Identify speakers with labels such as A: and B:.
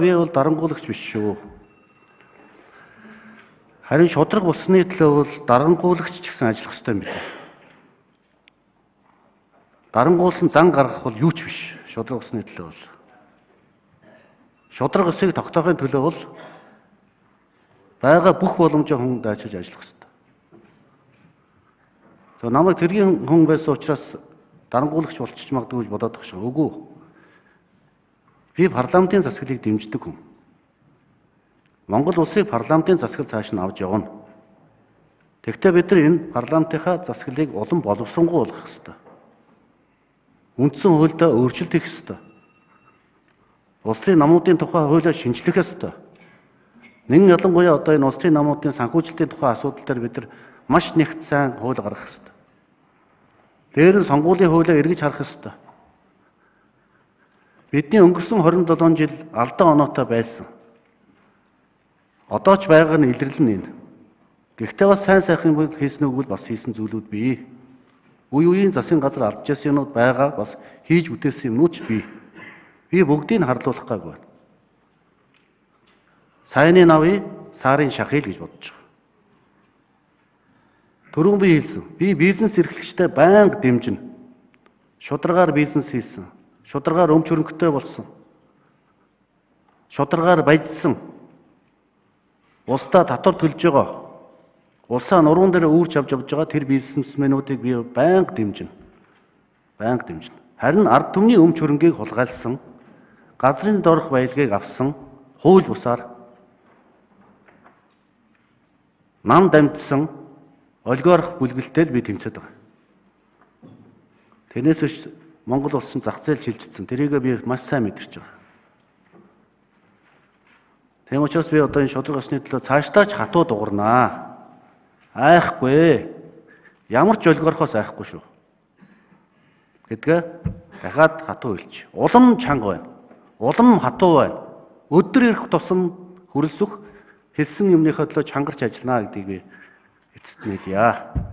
A: би бол дарангуулагч биш шүү. Харин шудраг болсны төлөө бол дарангуулагч ч гэсэн ажиллах ёстой юм билээ. Дарангуулсан зан гаргах бол юу ч биш. Шудраг болсны төлөө бол. Шудраг өсийг тогтоохын төлөө бол байгаа бүх боломжоо хүн даачилж ажиллах ёстой. За намайг тэргийн хүн байсан учраас дарангуулагч болчих магадгүй гэж бодоод байгаа шүү. Үгүй. Би парламентын засаглалыг дэмждэг хүн. Монгол улсыг парламентын засаглал цааш нь авч явна. Тэгвэл бид нар энэ парламентынхаа засаглалыг улам боловсронгуй болгох ёстой. Үндсэн хуульдаа өөрчлөлт хийх ёстой. Улсын намуудын тухай хуулиа шинжлэх ёстой. Нэгэн ялангуяа одоо энэ улсын намуудын санхүүжилтийн тухай асуудал дээр бид нар маш нэгт сайн хууль гаргах ёстой. Дээр нь сонгуулийн хуулиа эргэж харах ёстой. Бидний өнгөрсөн 27 жил алдан оноотой байсан. Одоо ч байгаа нь илэрлэн энэ. Гэхдээ бас сайн сайхан хийсэн үг бол бас хийсэн зүйлүүд бий. Үе үеийн засгийн газар алдчихсан юмуд байгаа, бас хийж бүтээсэн юмнууд ч бий. Би бүгдийг харлуулах гайг байна. Сайныг авъя, сарын шахъя гэж бодож байгаа. Түрүүн би хэлсэн. Би бизнес эрхлэгчтэй байнга дэмжинэ. Шударгаар бизнес хийсэн. Шударгаар өмч хөрөнгөтэй болсон. Шударгаар баяжсан. Улсдаа татвар төлж байгаа. Улсаа нуруунд дээр үүрч авч явж байгаа тэр бизнесмэнүүдийг би байнга дэмжинэ. Байнга дэмжинэ. Харин ард түмний өмч хөрөнгийг хулгайлсан, газрын дорох баялагийг авсан, хууль бусаар нам дамжсан олигарх бүлгэлтэй л би тэмцээд байгаа. Тэрнээс биш Монгол улсын зах зээл шилжчихсэн. Тэрийг би маш сайн мэдэрч байгаа. Тийм учраас би одоо энэ шудраг ёсны төлөө цаашдаа ч хатуу дугарнаа. Айхгүй. Ямар ч олигархоос айхгүй шүү. Гэдгээ дахиад хатуу хэлж. Улам чанга байна. Улам хатуу байна. Өдөр ирэх тусам хүрэлцэх хэлсэн юмныхаа төлөө чангарч ажиллана гэдгийг би эцэст нь хэлье.